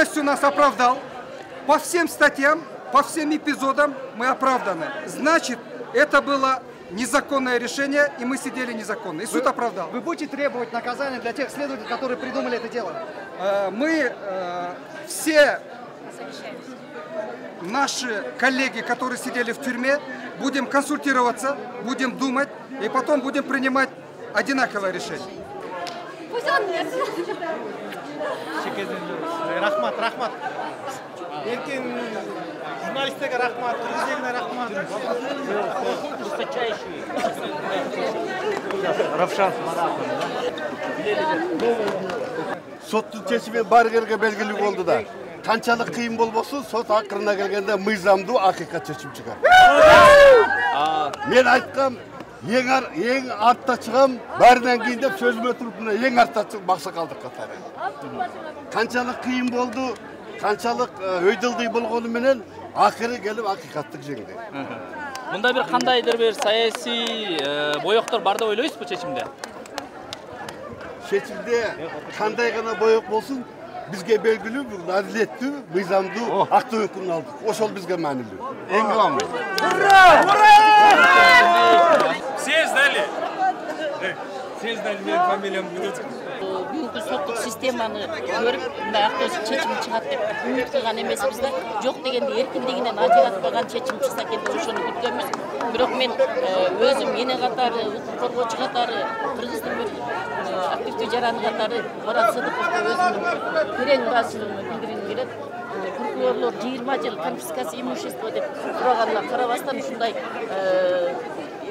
полностью нас оправдал. По всем статьям, по всем эпизодам мы оправданы. Значит, это было незаконное решение, и мы сидели незаконно. И суд оправдал. Вы будете требовать наказания для тех следователей, которые придумали это дело? Мы все наши коллеги, которые сидели в тюрьме, будем консультироваться, будем думать, и потом будем принимать одинаковое решение. Рахмат, рахмат. Эркин журналисттерге рахмат, президентке рахмат. Высочайший. Равшан. Соттун чечими баары элге белгилүү болду да. Канчалык кыйын болбосун, сот акырына келгенде мыйзамдуу акыйкат чечим чыгат. Мен айткам, эң артта чыгам, баарынан кийин деп сөзүмө туруп, эң артта чыгып максакалдык катары. Канчалык кыйын болду, канчалык өйдөлдүй болгону менен акыры келип акыйкаттык жеңди. Мында бир кандайдыр бир саясий боёктор бар деп ойлойсузбу чечимде? Чечимде кандай гана боёк болсун, бизге белгилүү, бул адилеттүү, мыйзамдуу актуу өкүмдү алдык. Ошол бизге маанилүү. Эң кыламыз. Ура! Все сдали. Все сдали, менин фамилиям Гудецкий. Бүгүнкү соттук системаны көрүп, мындай актоо чечим чыгат деп үмүт кылган эмеспиз да. Жок дегенде эркиндигинен ажыратпаган чечим чыкса экен деп ошону күткөнбүз. Бирок мен өзүм эне катары, укук коргоочу катары, Кыргыздын бир активдүү жараны катары Марат Сыдыковго өзүмдүн терең ыраазычылыгымды билдиргим келет. Прокурорлор 20 жыл конфискация имущества деп сураганына карабастан ушундай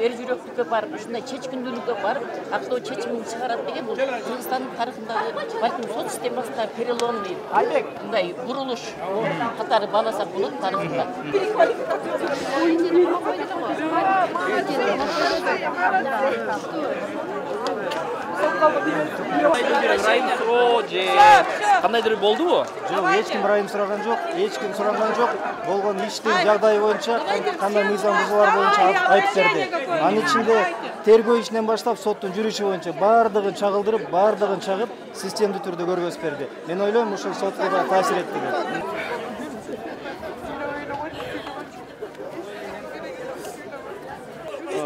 эр жүрөктүккө барып, ушундай чечкиндүүлүккө барып, актоо чечимин чыгарат деген бул Кыргызстандын тарыхындагы балким сот системасында переломный мындай бурулуш катары бааласак болот тарыхында. Ырайым суроо же кандайдыр болдубу? Жок, эч ким ырайым сураган жок, эч ким сураган жок. Болгон иштин жагдайы боюнча, кандай мыйзам бузуулар боюнча айтып берди. Анын ичинде тергөө ишинен баштап соттун жүрүшү боюнча баардыгын чагылдырып, баардыгын чагып, системдүү түрдө көргөзүп берди. Мен ойлойм, ушул сотко да таасир этти деп.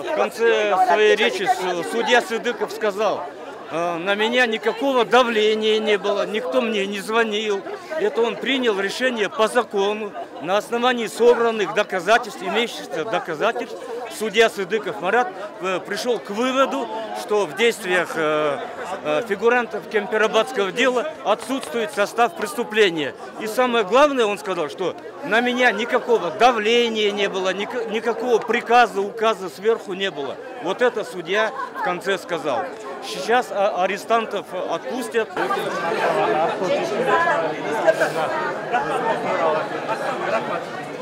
В конце своей речи судья Сыдыков сказал: на меня никакого давления не было, никто мне не звонил. Это он принял решение по закону, на основании собранных доказательств, имеющихся доказательств. Судья Сыдыков Марат пришел к выводу, что в действиях фигурантов Кемпирабадского дела отсутствует состав преступления. И самое главное, он сказал, что на меня никакого давления не было, никакого приказа, указа сверху не было. Вот это судья в конце сказал. Сейчас арестантов отпустят.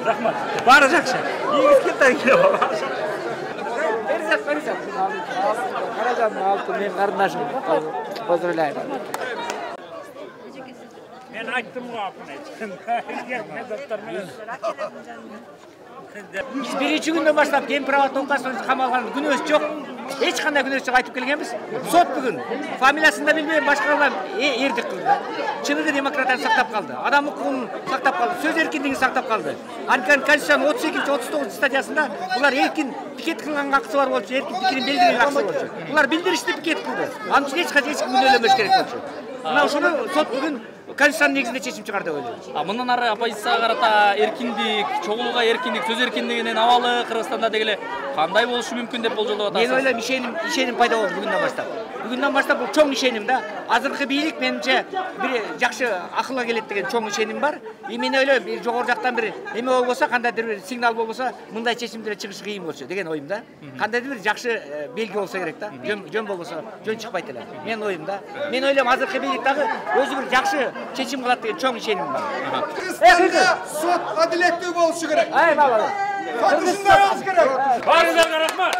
Рахмат. Бары жакшы. Ийгизген таңкеле. Каражан алты мен карындашым. Поздравляю. Мен айттым го апын. Мен доктор менен. Биз биринчи күндөн баштап Кемпирабад окуясында камалган күнөөбүз жок. Эч кандай күнөөсү жок айтып келгенбиз. Сот бүгүн фамилиясын да билбей башкалардан эрдик кылды. Чыныгы демократияны сактап калды. Адам укугун сактап калды. Сөз эркиндигин сактап калды. Анткени Конституциянын 38-39 статьясында булар эркин пикет кылганга акысы бар болчу, эркин пикирин билдирген акысы болчу. Булар билдиришти, пикет кылды. Анын үчүн эч качан күнөөлөнбөш керек болчу. Мына ушуну сот бүгүн Конституциянын негизинде чечим чыгарды деп ойлойм. Мындан ары оппозицияга карата эркиндик, чогулууга эркиндик, сөз эркиндигинин абалы Кыргызстанда дегеле кандай болушу мүмкүн деп болжолдоп атасыз? Мен ойлойм, ишеним пайда болду бүгүндөн баштап. Бүгүндөн баштап бул чоң ишеним да. Азыркы бийлик менимче бир жакшы акылга келет деген чоң ишеним бар. И мен ойлойм, жогору жактан бир эме болбосо, кандайдыр бир сигнал болбосо, мындай чечимдер чыгышы кыйын болчу деген оюм да. Кандайдыр бир жакшы белги болсо керек да. Жөн болбосо жөн чыкпайт эле. Мен оюм да. Мен ойлойм, азыркы бийлик дагы өзү бир жакшы чечим кылат деген чоң ишеним бар. Кыргызстанда сот адилеттүү болушу керек. Ай, бала. Сот ушундай болушу керек. Баарыңызга рахмат.